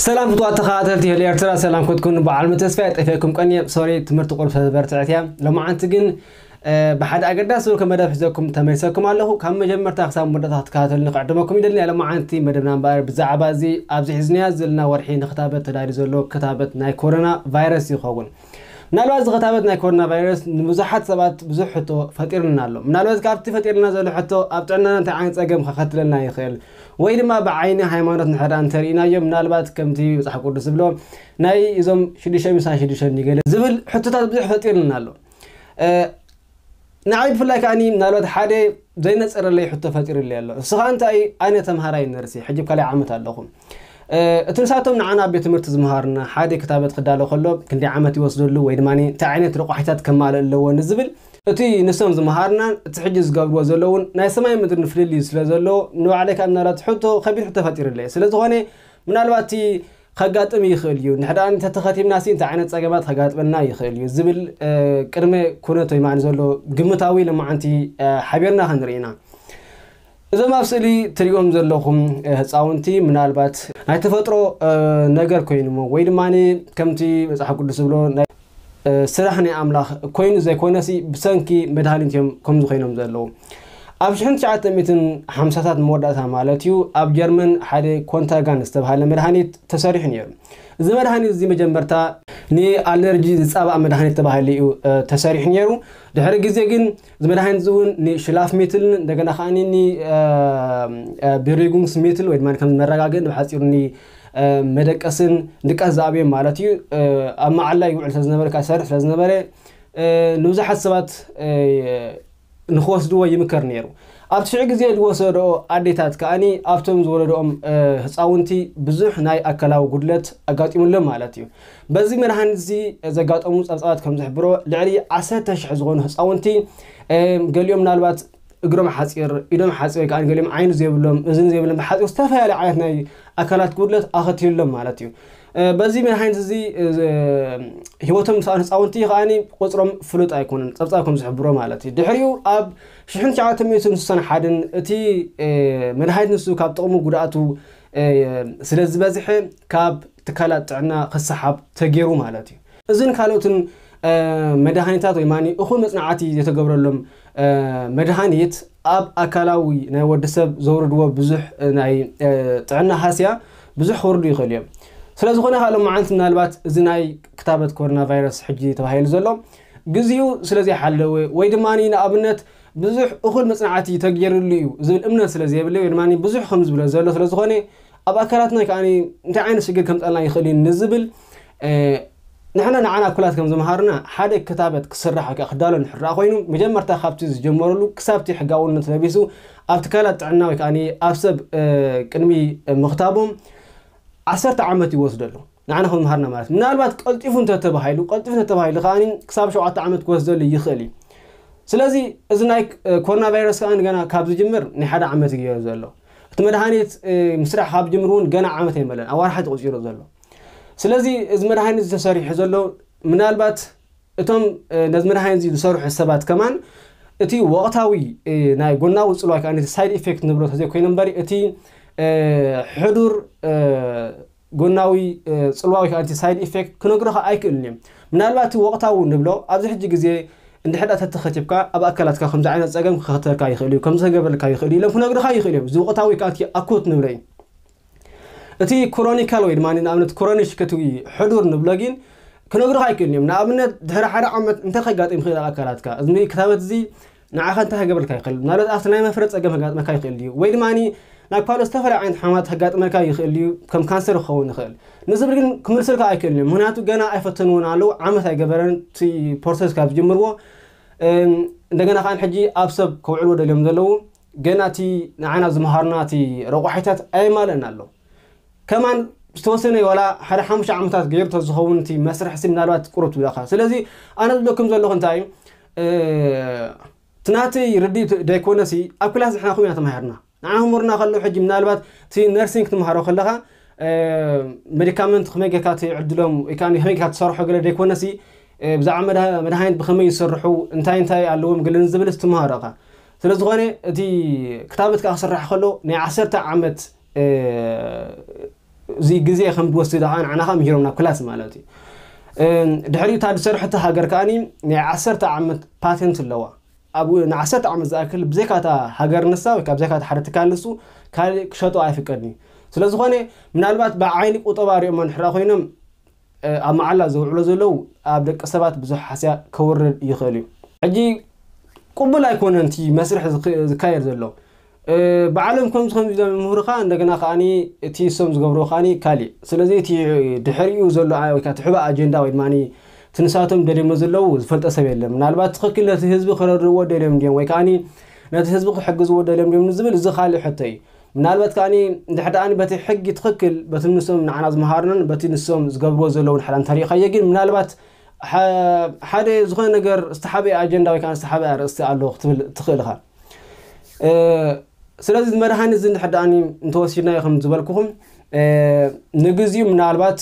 ሰላም ፍትዋት ተኸታተልቲ ሄሊ ኤርትራ፣ ሰላም ክትኩኑ በዓል ተስፋ ጠፊእኩም ቀንየ። ሶሪ ትምህርቲ ቁርብ ተበርትዐት እያ። ሎማዓንቲ ግን ብሓደ ኣገዳሲ ዝኮነ መደብ ሒዘኩም ተመልሰኩም ኣለኹ። ካብ መጀመርታ ክሳብ መወዳእታ ክትከታተሉኒ ክዕድመኩም ይደሊ። ሎማዓንቲ መደብና እምበኣር ብዛዕባ እዚ ኣብዚ ሒዝናዮ ዘለና ወርሒ ንክታበት ተዳልዩ ዘሎ ክታበት ናይ ኮሮና ቫይረስ ይኸውን። ምናልባት እዚ ክታበት ናይ ኮሮና ቫይረስ ንብዙሓት ሰባት ብዙሕ ሕቶ ፈጢርልና ኣሎ። ምናልባት ካብቲ ፈጢርልና ዘሎ ሕቶ ኣብ ጥዕናና እንታይ ዓይነት ጸገም ከኸትለና ይኽእል ወይ ድማ ብዓይኒ ሃይማኖት ንሕዳ እንተርኢናዮ ምናልባት ከምቲ መጽሓፍ ቅዱስ ዝብሎ ናይ እዞም ሽዱሽተ ሚሳን ሽዱሽተ ገለ ዝብል ሕቶታት ብዙሕ ፈጢርልና ኣሎ። ንዓይ ብፍላይ ከዓኒ ምናልባት ሓደ ዘይነጸረለይ ሕቶ ፈጢሩለይ ኣሎ። እሱ ከዓ እንታይ፣ ኣነ ተምሃራይ ነርሲ ሕጂ ካልኣይ ዓመት ኣለኹ። እቲ ንሳቶም ንዓና ኣብ ቤት ትምህርቲ ዝምሃርና ሓደ ክታበት ክዳሎ ከሎ ክንደይ ዓመት ይወስደሉ ወይ ድማ እንታይ ዓይነት ረቋሒታት ከማልእ ኣለዎ ንዝብል እቲ ንሶም ዝምሃርናን እቲ ሕጂ ዝገብርዎ ዘለውን ናይ ሰማይ ምድሪ ፍልልይ ስለ ዘለዎ ንባዕለይ ካብ ምናልባት ሕቶ ከቢድ ሕቶ ፈጢሩለይ ስለ ዝኾነ ምናልባት እቲ ከጋጥም ይኽእል እዩ። ንሕዳ እንተተኸቲብና ሲ እንታይ ዓይነት ጸገማት ከጋጥመና ይኽእል እዩ ዝብል ቅድመ ኩነት ወይ ማዕን ዘሎ ግምታዊ ለማዓንቲ ሓቢርና ክንርኢ ኢና። እዞም ኣብ ስእሊ ትሪኦም ዘለኹም ህፃውንቲ ምናልባት ናይ ተፈጥሮ ነገር ኮይኑሞ ወይ ድማ ከምቲ መፅሓፍ ቅዱስ ዝብሎ ስራሕ ናይ ኣምላኽ ኮይኑ ዘይኮነሲ ብሰንኪ መድሃኒት እዮም ከምዚ ኮይኖም ዘለዉ። ኣብ ሽሕን ትሽዓተ ሚእትን ሓምሳታት መወዳእታ ማለት እዩ ኣብ ጀርመን ሓደ ኮንታጋን ዝተባሃለ መድሃኒት ተሰሪሑ ነይሩ። እዚ መድሃኒት እዚ መጀመርታ ንኣለርጂ ዝፃባእ መድሃኒት ተባሂሉ እዩ ተሰሪሑ ነይሩ። ድሕሪ ግዜ ግን እዚ መድሃኒት እዚ እውን ንሽላፍ ሜትልን እንደገና ከዓ ብሪጉንስ ሜትል ወይ ድማ ከም መረጋግእን ብሓፂሩ መደቀስን ድቃስ ዝኣብዮም ማለት እዩ ኣብ መዓላ ይውዕል ስለዝነበረ ካብ ዝሰርሕ ስለዝነበረ ንብዙሓት ሰባት ንክወስድዎ ይምከር ነይሩ። ኣብቲ ሽዑ ግዜ ዝወሰድኦ ኣዴታት ከዓኒ ኣብቶም ዝወለድኦም ህፃውንቲ ብዙሕ ናይ ኣካላዊ ጉድለት ኣጋጢሙሎም ማለት እዩ። በዚ መድሃኒት እዚ ዘጋጠሙ ፀብፃባት ከም ዝሕብሮ ልዕሊ ዓሰርተ ሽሕ ዝኾኑ ህፃውንቲ ገሊኦም ምናልባት እግሮም ሓፂር፣ ኢዶም ሓፂር ወይ ከዓ ገሊኦም ዓይኒ ዘይብሎም፣ እዝኒ ዘይብሎም ብሓፂሩ ዝተፈላለዩ ዓይነት ናይ ኣካላት ጉድለት ኣኸቲሉሎም ማለት እዩ። በዚ መድሃኒት እዚ ህይወቶም ዝሰኣኑ ህፃውንቲ ከዓኒ ቁፅሮም ፍሉጥ ኣይኮነን፣ ፀብፃብ ከም ዝሕብሮ ማለት እዩ። ድሕሪኡ ኣብ ሽሕን ትሽዓተ ሚእትን ስሳን ሓደን እቲ መድሃኒት ንሱ ካብ ጥቕሙ ጉድኣቱ ስለ ዝበዝሐ ካብ ትካላት ጥዕና ክሰሓብ ተገይሩ ማለት እዩ። እዝን ካልኦትን መድሃኒታት ወይ ማኒ እኹል መፅናዕቲ ዘይተገብረሎም መድሃኒት ኣብ ኣካላዊ ናይ ወዲ ሰብ ዘውርድዎ ብዙሕ ናይ ጥዕና ሃስያ ብዙሕ ክወርዱ ይኽእል እዮም። ስለ ዝኾነ ካልኦ መዓልቲ ምናልባት እዚ ናይ ክታበት ኮሮና ቫይረስ ሕጂ ተባሂሉ ዘሎ ግዜኡ ስለ ዘይሓለወ ወይ ድማ ንኣብነት ብዙሕ እኹል መፅናዕቲ ተገይርሉ እዩ ዝብል እምነት ስለ ዘይብለይ ወይ ድማ ብዙሕ ከም ዝብሎ ዘሎ ስለ ዝኾነ ኣብ ኣካላትና ከዓ እንታይ ዓይነት ሽግር ከምፀልና ይኽእል እዩ ንዝብል ንሕና ንዓና እኩላት ከም ዝምሃርና ሓደ ክታበት ክስራሕ ወይ ከዓ ክዳሎ ንሕራ ኮይኑ መጀመርታ ካብቲ ዝጀመረሉ ክሳብቲ ሕጋውነት ለቢሱ ኣብ ትካላት ጥዕና ወይ ከዓ ኣብ ሰብ ቅድሚ ምኽታቦም ዓሰርተ ዓመት ይወስደሉ። ንዓና ከም ዝምሃርና ማለት ምናልባት ቀልጢፉ እንተተባሂሉ ቀልጢፉ እንተተባሂሉ ከዓ ክሳብ ሸውዓተ ዓመት ክወስደሉ ይኽእል እዩ። ስለዚ እዚ ናይ ኮሮና ቫይረስ ከዓ ገና ካብ ዝጅምር ናይ ሓደ ዓመት እዩ ዘሎ። እቲ መድሃኒት ምስራሕ ካብ ጅምር እውን ገና ዓመት ኣይመለን፣ ኣዋርሓ ተቆፂሩ ዘሎ። ስለዚ እዚ መድሃኒት ዝተሰሪሑ ዘሎ ምናልባት እቶም ነዚ መድሃኒት እዚ ዝሰርሑ ሰባት ከማን እቲ ወቕታዊ ናይ ጎናዊ ፅልዋ ከዓ ሳይድ ኢፌክት ንብሎ ተዘይኮይኑ እምበሪ እቲ ሕዱር ጎናዊ ፅልዋ ወይ ከዓ ሳይድ ኢፌክት ክነግሮኻ ኣይክእልን እዮም። ምናልባት እቲ ወቕታዊ ንብሎ ኣብዚ ሕጂ ግዜ እንድሕር ተተኸቲብካ ኣብ ኣካላትካ ከምዚ ዓይነት ፀገም ክኸተልካ ይኽእል እዩ፣ ከምዚ ከገብረልካ ይኽእል እዩ ኢሎም ክነግርኻ ይኽእል እዮም። እዚ ወቕታዊ ወይ ከዓ ኣኩት ንብሎ እዩ። እቲ ክሮኒካል ወይ ድማ ንኣብነት ክሮኒሽ ክትዊ ሕዱር ንብሎ ግን ክነግርኻ ኣይክእልን እዮም። ንኣብነት ድሕሪ ሓደ ዓመት እንታይ ከጋጥም ይኽእል ኣብ ኣካላትካ እዚ ክታበት እዚ ንዓኻ እንታይ ከገብረልካ ይኽእል? ምናልባት ኣብቲ ናይ መፍረ ፀገም ከጋጥመካ ይኽእል ድዩ? ወይ ድማ ናብ ካልኦት ዝተፈላለዩ ዓይነት ሕማማት ከጋጥመልካ ይኽእል ድዩ? ከም ካንሰር ክኸውን ይኽእል ንዝብል ግን ክምልስልካ ኣይክእልን እዩ። ምክንያቱ ገና ኣይፈተንዎን ኣለዉ፣ ዓመት ኣይገበረን እቲ ፕሮሰስ ካብ ዝጅምርዎ። እንደገና ከዓ ሕጂ ኣብ ሰብ ከውዕልዎ ደልዮም ዘለዉ ገና እቲ ንዓና ዝመሃሩና እቲ ረቋሒታት ኣየማልእን ኣሎ። ከማን ዝተወሰነ ዋላ ሓደ ሓሙሽተ ዓመታት ገይሩ ተዝኸውን እቲ መስርሕ ሲ ምናልባት ቁሩብ ትብለኻ። ስለዚ ኣነ ዝብለኩም ዘለኹ እንታይ እዩ እቲ ናተይ ርድኢት ደይኮነሲ ኣብ ክላስ ንሕና ኹም ኢና ተማሂርና። ንዓ ህሙርና ከሎ ሕጂ ምናልባት እቲ ነርሲንግ ትምሃሮ ከለኻ ሜዲካመንት ከመይ ጌርካ ትዕድሎም ወይ ከዓ ከመይ ጌርካ ትሰርሖ ገለ ደይኮነሲ ብዛዕባ መድሃኒት ብኸመይ ይሰርሑ እንታይ እንታይ ኣለዎም ገለ ንዝብል ትምሃሮ ኢኻ። ስለ ዝኾነ እቲ ክታበት ከዓ ክስራሕ ከሎ ናይ ዓሰርተ ዓመት እዚ ግዜ ከም ዝወስድ ከዓ ንዓና ከዓ ምሂሮምና ክላስ ማለት እዩ። ድሕሪኡ እታ ዝሰርሐቶ ሃገር ከዓኒ ናይ ዓሰርተ ዓመት ፓተንት ኣለዋ። ኣብ ንዓሰርተ ዓመት ዝኣክል ብዘይካታ ሃገር ንሳ ወይ ካብ ብዘይካታ ሓደ ትካል ንሱ ካልእ ክሸጦ ኣይፍቀድን እዩ። ስለዝኾነ ምናልባት ብዓይኒ ቁጠባ ሪኦሞ እንድሕራ ኮይኖም ኣብ መዓላ ዘውዕሎ ዘለዉ ኣብ ደቂ ሰባት ብዙሕ ሓስያ ከውርድ ይኽእል እዩ። ሕጂ ቅቡል ኣይኮነን እቲ መስርሕ ዝካየድ ዘሎ። ባዕሎም ከምዚ ከምዚ ኢሎም ምሁርኻ እንደገና ከዓኒ እቲ እሶም ዝገብርዎ ከዓኒ ካሊእ። ስለዚ እቲ ድሕሪኡ ዘሎ ወይ ከዓ እቲ ሕቡእ ኣጀንዳ ወይ ድማ እቲ ንሳቶም ደልዮሞ ዘለዉ ዝፈልጠ ሰብ የለን። ምናልባት ትኽክል ነቲ ህዝቢ ክረድእዎ ደልዮም ድዮም ወይ ከዓኒ ነቲ ህዝቢ ክሕግዝዎ ደልዮም ድዮም ንዝብል እዚ ካልእ ሕቶ እዩ። ምናልባት ከዓኒ እንድሕር ደኣኒ በቲ ሕጊ ትኽክል በቲ ንሶም ንዓና ዝመሃሩናን በቲ ንሶም ዝገብርዎ ዘለዉ ንሕራ እንተሪእኻዮ ግን ምናልባት ሓደ ዝኾነ ነገር ዝተሓበየ ኣጀንዳ ወይ ከዓ ዝተሓበየ ኣርእስቲ ኣሎ ክትብል ትኽእል ኢኻ። ስለዚ መድሃኒት እዚ እንድሕር ደኣኒ እንተወሲድናዮ ከም ዝበልኩኹም ንግዚኡ ምናልባት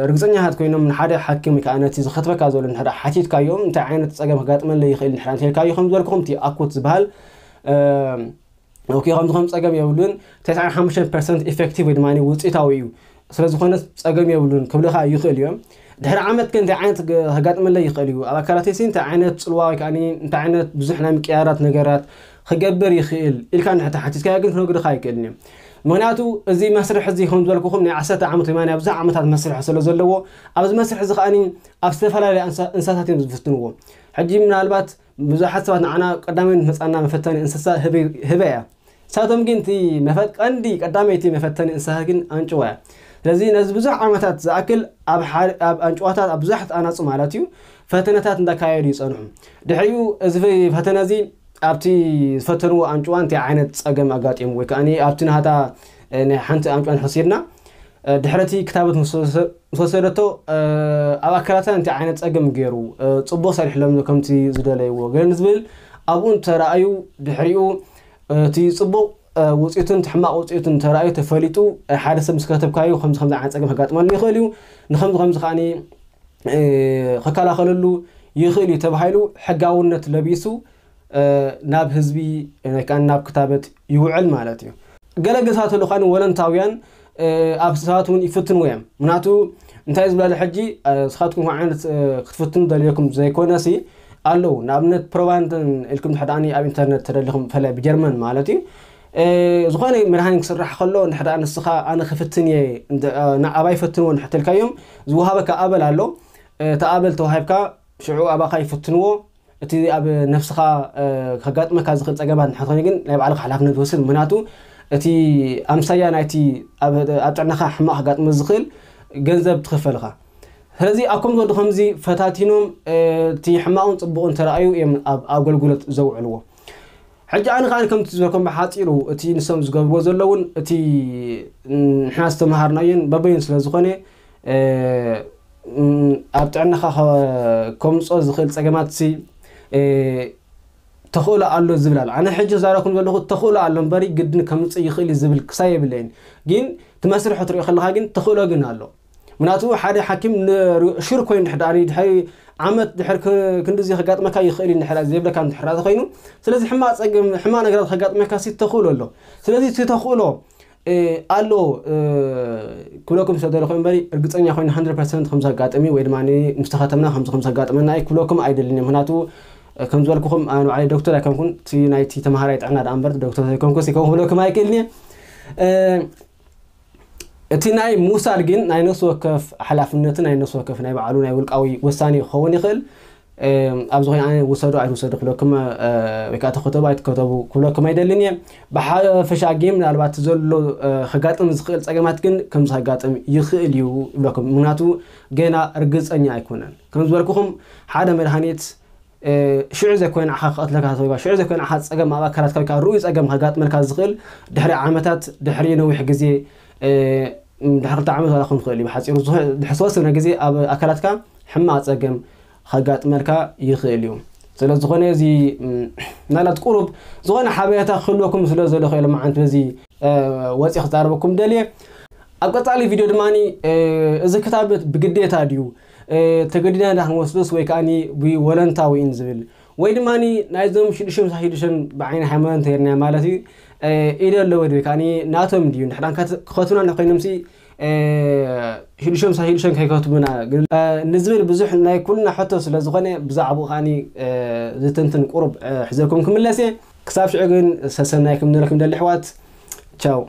ርግፀኛታት ኮይኖም ንሓደ ሓኪም ወይ ከዓ ነቲ ዝኸትበካ ዘሎ እንድሕር ሓቲትካዮም እንታይ ዓይነት ፀገም ከጋጥመለይ ይኽእል እንድሕር እንተልካዮ ከም ዝበልኩኹም እቲ ኣኩት ዝበሃል ኦኬ ከምዚ ከም ፀገም የብሉን። ተስዓን ሓሙሽተን ፐርሰንት ኢፌክቲቭ ወይ ድማ ውፅኢታዊ እዩ። ስለዝኾነ ፀገም የብሉን ክብልኻ ይኽእል እዮም። ድሕሪ ዓመት ግን እንታይ ዓይነት ከጋጥመለይ ይኽእል እዩ ኣብ ኣካላተይ ሲ እንታይ ዓይነት ፅልዋ ወይ ከዓ እንታይ ዓይነት ብዙሕ ናይ ምቅያራት ነገራት ክገብር ይኽእል ኢልካ እንድሕር ተሓቲትካዮ ግን ክነግርኻ ኣይክእልን እዮም። ምክንያቱ እዚ መስርሕ እዚ ከም ዝበልኩኹም ናይ ዓሰርተ ዓመት ወይ ናይ ብዙሕ ዓመታት መስርሕ ስለ ዘለዎ ኣብዚ መስርሕ እዚ ከዓ ኣብ ዝተፈላለዩ እንስሳታት እዮም ዝፍትንዎ። ሕጂ ምናልባት ብዙሓት ሰባት ንዓና ቀዳማይ መፃና መፈተኒ እንስሳ ህበይ እያ። ንሳቶም ግን እቲ መፈት ቀንዲ ቀዳመይቲ መፈተኒ እንስሳ ግን ኣንጭዋ እያ። ስለዚ ነዚ ብዙሕ ዓመታት ዝኣክል ኣብ ኣንጭዋታት ኣብ ብዙሓት ኣናፁ ማለት እዩ ፈተነታት እንዳካየዱ ይፀንሑ። ድሕሪኡ እዚ ፈተነ እዚ ኣብቲ ዝፈተንዎ ኣንጭዋ እንታይ ዓይነት ፀገም ኣጋጢሙ ወይ ከዓ ኣብቲ ናሃታ ናይ ሓንቲ ኣንጭዋ ንሕሲድና ድሕረቲ ክታበት ምስ ወሰደቶ ኣብ ኣካላታ እንታይ ዓይነት ፀገም ገይሩ ፅቡቅ ሰሪሕሎም ከምቲ ዝደለይዎ ገለ ንዝብል ኣብኡ እንተረኣዩ ድሕሪኡ እቲ ፅቡቅ ውፅኢቱን ሕማቅ ውፅኢቱን እንተረኣዩ ተፈሊጡ ሓደ ሰብ ምስ ከተብካዩ ከምዚ ከምዚ ዓይነት ፀገም ከጋጥመሉ ይኽእል እዩ ንከምዚ ከምዚ ከዓ ከከላኸለሉ ይኽእል እዩ ተባሂሉ ሕጋውነት ለቢሱ ናብ ህዝቢ ወይ ከዓ ናብ ክታበት ይውዕል ማለት እዩ። ገለ ግሳት ኣለዉ ከዓ ወለንታውያን ኣብ ሰባት እውን ይፍትንዎ እዮም። ምክንያቱ እንታይ ዝብላለ ሕጂ ስኻትኩም ከ ዓይነት ክትፍትኑ ደልየኩም ዘይኮነሲ ኣለዉ ንኣብነት ፕሮባንድን ኢልኩም ድሕዳኒ ኣብ ኢንተርነት ተደሊኹም ፈላይ ብጀርመን ማለት እዩ ዝኾነ መድሃኒት ክስራሕ ከሎ ንሕዳ ንስኻ ኣነ ክፍትን እየ ኣባይ ፈትንዎ ንሕተልካዮም ዝወሃበካ ኣበል ኣሎ። እቲ ኣበል ተዋሂብካ ሽዑ ኣባኻ ይፍትንዎ። እቲ ኣብ ነፍስኻ ከጋጥመካ ዝኽእል ፀገማት ንሕኾነ ግን ናይ ባዕልካ ሓላፍነት ዝወስድ ምክንያቱ እቲ ኣምሳያ ናይቲ ኣብ ጥዕናኻ ሕማቕ ከጋጥመ ዝኽእል ገንዘብ ትኽፈልኻ። ስለዚ ኣብ ከም ወዲ ከምዚ ፈታቲኖም እቲ ሕማቕን ፅቡቕን ተረኣዩ እዮም ኣብ ኣገልግሎት ዘውዕልዎ። ሕጂ ኣነ ከዓ ከምቲ ዝበልኩም ብሓፂሩ እቲ ንሶም ዝገብርዎ ዘለውን እቲ ንሕና ዝተምሃርናዮን በበይን ስለ ዝኾነ ኣብ ጥዕናኻ ከምፅኦ ዝኽእል ፀገማት ሲ ተኽእሎ ኣሎ ዝብል ኣሎ ኣነ ሕጂ ዛረኩም ዘለኹ ተኽእሎ ኣሎ እምበሪ ግድን ከምፅእ ይኽእል ዝብል ክሳይ የብለይን። ግን ትመስርሖ ትሪኦ ከለኻ ግን ተኽእሎ ግን ኣሎ። ምክንያቱ ሓደ ሓኪም ሽር ኮይኑ ድሕዳኒ ድሕሪ ዓመት ድሕር ክንዲዚ ከጋጥመካ ይኽእል እዩ ድሕር ዘይብለካ ድሕር ኮይኑ ስለዚ ሕማቅ ፀገም ሕማቅ ነገራት ከጋጥመካ ሲ ተኽእሎ ኣሎ። ስለዚ እቲ ተኽእሎ ኣሎ ክብለኩም ዝደለኹ እምበሪ እርግፀኛ ኮይኑ 100 ፐርሰንት ከም ዘጋጥም እዩ ወይ ድማ ምስ ተኸተምና ከምዚ ከም ዘጋጥመና እዩ ክብለኩም ኣይደልን እየ ምክንያቱ ከም ዝበልኩኹም ኣነ ባዕለይ ዶክተር ኣይኮንኩን እቲ ናይቲ ተምሃራይ ጥዕና ደኣ እምበር ዶክተር ዘይኮንኩ ሲ ከም ክብለኩም ኣይክእልን እየ። እቲ ናይ ምውሳድ ግን ናይ ነፍሲ ወከፍ ሓላፍነትን ናይ ነፍሲ ወከፍ ናይ ባዕሉ ናይ ውልቃዊ ውሳኔ ክኸውን ይኽእል። ኣብዚ ኮይኑ ኣነ ውሰዱ ኣይትውሰዱ ክብለኩም ወይ ከዓ ተኸተቡ ኣይትከተቡ ክብለኩም ኣይደልን እየ። ብሓፈሻ ግን ምናልባት ዘሎ ከጋጥም ዝኽእል ፀገማት ግን ከምዚ ከጋጥም ይኽእል እዩ ይብለኩም ምክንያቱ ገና ርግፀኛ ኣይኮነን ከም ዝበልኩኹም ሓደ መድሃኒት ሽዑ ዘይኮነ ንዓኻ ክቐትለካ ተወይባ ሽዑ ዘይኮነ ንዓኻ ፀገም ኣብ ኣካላትካ ወይ ከዓ ርኡይ ፀገም ከጋጥመልካ ዝኽእል ድሕሪ ዓመታት ድሕሪ ነዊሕ ግዜ ድሕሪ ክልተ ዓመት ዋላ ክኸውን ይኽእል እዩ ብሓፂሩ ድሕሪ ዝተወሰነ ግዜ ኣብ ኣካላትካ ሕማቕ ፀገም ከጋጥመልካ ይኽእል እዩ። ስለ ዝኾነ እዚ ምናልባት ቁሩብ ዝኾነ ሓበሬታ ክህልወኩም ስለ ዘለኹ ኢለ መዓንቲ በዚ ወፂ ክዛረበኩም ደልየ። ኣብ ቀፃሊ ቪድዮ ድማ እዚ ክታበት ብግዴታ ድዩ ተገዲና ዳ ክንወስዶስ ወይ ከዓ ብወለንታዊ ኢን ዝብል ወይ ድማ ናይዞም ሽዱሽተ ሽዱሽተ ብዓይኒ ሃይማኖት ተይርና ማለት እዩ ኢደ ኣለወ ወይ ከዓ ናቶም ድዩ ንሕዳን ክኸቱና ኮይኖም ሲ ሂዱሸም ሳ ሂዱሸም ከይከትቡና ንዝብል ብዙሕ ናይ ኩልና ሕቶ ስለ ዝኾነ ብዛዕባኡ ከዓኒ ዝተንትን ቁሩብ ሕዘልኩም ክምለስ እየ። ክሳብ ሽዑ ግን ሰሰናይ ከም ንረክብ ደሊ ኣሕዋት። ቻው።